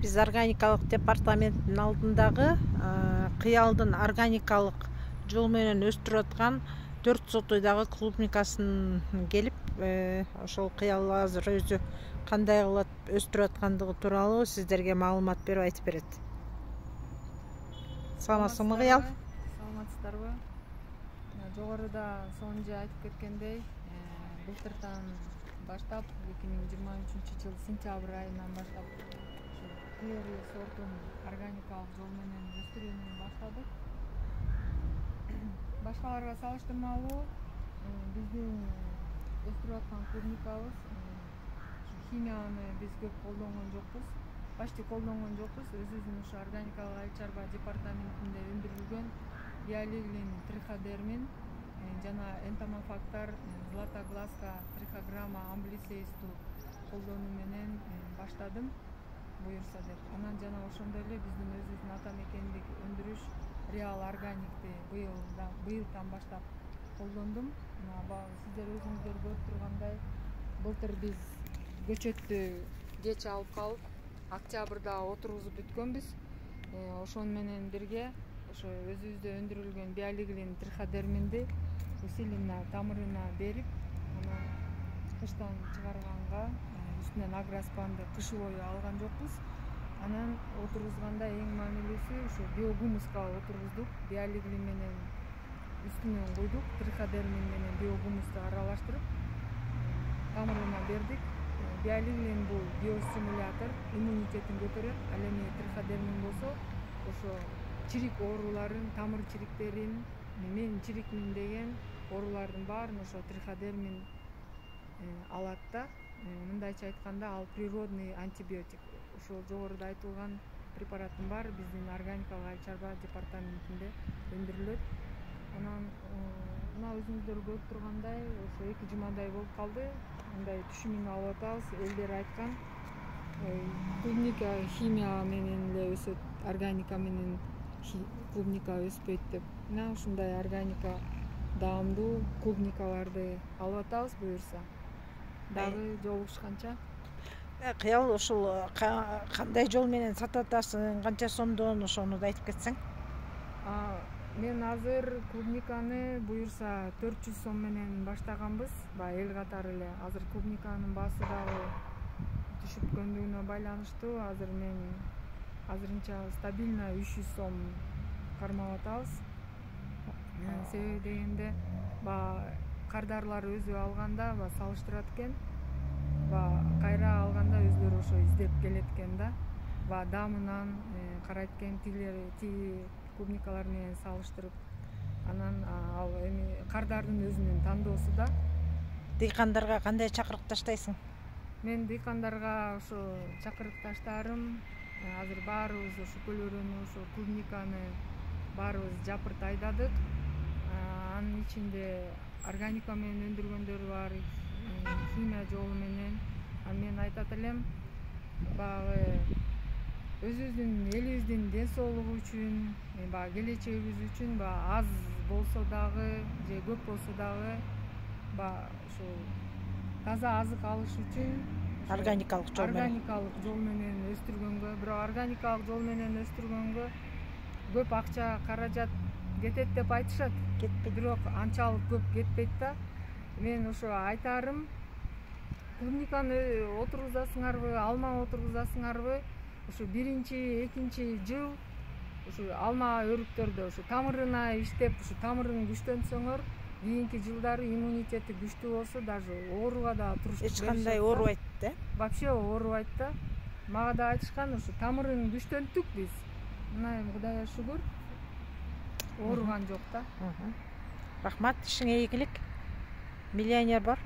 Биз органикалык департаменттин алдындагы кыялдын органикалык жол менен өстүрүп аткан 4 сотойдагы клубникасын келип, ошол кыял азыр өзү кандай кылып өстүрүп аткандыгы тууралуу сиздерге маалымат берип айтып берет. Саламатсызбы кыял? Саламатсыздарбы? Жогоруда сонун айтып кеткендей, былтыртан баштап 2023 жыл сентябрь айынан баштап Кыйыр сортун органикалык жол менен өстүрүүнү баштадык. Башкаларга салыштырмалуу биздин өстүрүп аткан клубникабыз химияны биз көп колдонгон жокпуз. Почти колдонгон жокпуз. Өзүбүздүн ушу органикалык айыл чарба департаментинде өндүрүлгөн биолиглин, триходермин жана энтомофактар, златогласка, триходерма, амблисеисту колдонуу менен баштадым буюрса деп. Анан жана ошондой эле биздин өзүбүздүн ата мекендик өндүрүш Реал органикти быйылдан баштап колдондум. Сиздер өзүңүздөр көрүп тургандай, былтыр биз көчөттү кеч алып калып, октябрда отургузуп бүткөнбүз. Ошону менен бирге ошо өзүбүздө өндүрүлгөн биолиглин, триходерминди усиленно тамырына берип, анан кыштан чыгарганга үстүнөн агроспанды кыш бою алган жокпуз. Анан отургузганда эң маанилүүсү ушу биогумуска отургуздук. Биолиглин менен үстүнөн куйдук, триходермин менен биогумусту аралаштырып тамырына бердик. Биолиглин бул биостимулятор, иммунитетин көтөрөт. Ал эми триходермин болсо ошо чирик ооруларын, тамыр чириктерин, мен чирикмин деген оорулардын баарын ошо триходермин алат да. Мындайча айтканда, ал природный антибиотик. Ошол жогоруда айтылган препараттын баары биздин органикалык айыл чарба департаментинде өндүрүлөт. Анан мына өзүңүздөр көрүп тургандай, ошо 2 жумадай болуп калды. Мындай түшүмүн алып атабыз. Элдер айткан, клубника химия менен эле өсөт, органика менен клубника өспөйт деп. Мына ушундай органика даамдуу клубникаларды алып атабыз буюрса. Дагы жолугушканча. Кыял, ушул кандай жол менен сатып атасың, канча сомдон, ошону да айтып кетсең. Мен азыр клубниканы буюрса 400 сом менен баштаганбыз. Эл катары эле. Азыр клубниканын баасы дагы түшүпкөндүгүнө байланыштуу. Азыр мен азырынча стабильно 300 сом кармап атабыз. Себеби дегенде, кардарлар өзү алганда салыштырат экен. Кайра алганда өзүлөрү ошо издеп келет экен да. Даамынан карайт экен, тиги клубникалар менен салыштырып. Анан ал эми кардардын өзүнүн тандоосу да. Дыйкандарга кандай чакырык таштайсың? Мен дыйкандарга ошо чакырык таштаарым, азыр баарыбыз ошо көл өрөнү, ошо клубниканы баарыбыз жапырт айдадык. Анын ичинде органика менен өндүргөндөр бар, химия жолу менен. Мен айтат элем, баягы өзүбүздүн элибиздин ден соолугу үчүн, келечегибиз үчүн аз болсо дагы же көп болсо дагы ошо таза азык алыш үчүн органикалык жол менен өстүргөнгө, бирок органикалык жол менен өстүргөнгө көп акча, каражат кетет деп айтышат. Кетпейт. Бирок анчалык көп кетпейт да. Мен ошо айтарым, клубниканы отургузасыңарбы, алма отургузасыңарбы, ошо 1-2 жыл ошо алма өрүктөрдө ошо тамырына иштеп, ошо тамырын күчтөнсөңөр, кийинки жылдары иммунитети күчтүү болсо, даже ооруга да туруштук беришет. Эч кандай оорубайт да? Вообще оорубайт да. Мага да айтышкан, ошо тамырын күчтөнттүк биз. Мына эми Кудайга шүгүр, ооруган жок да. Рахмат, ишиңе ийгилик. Миллионер бар.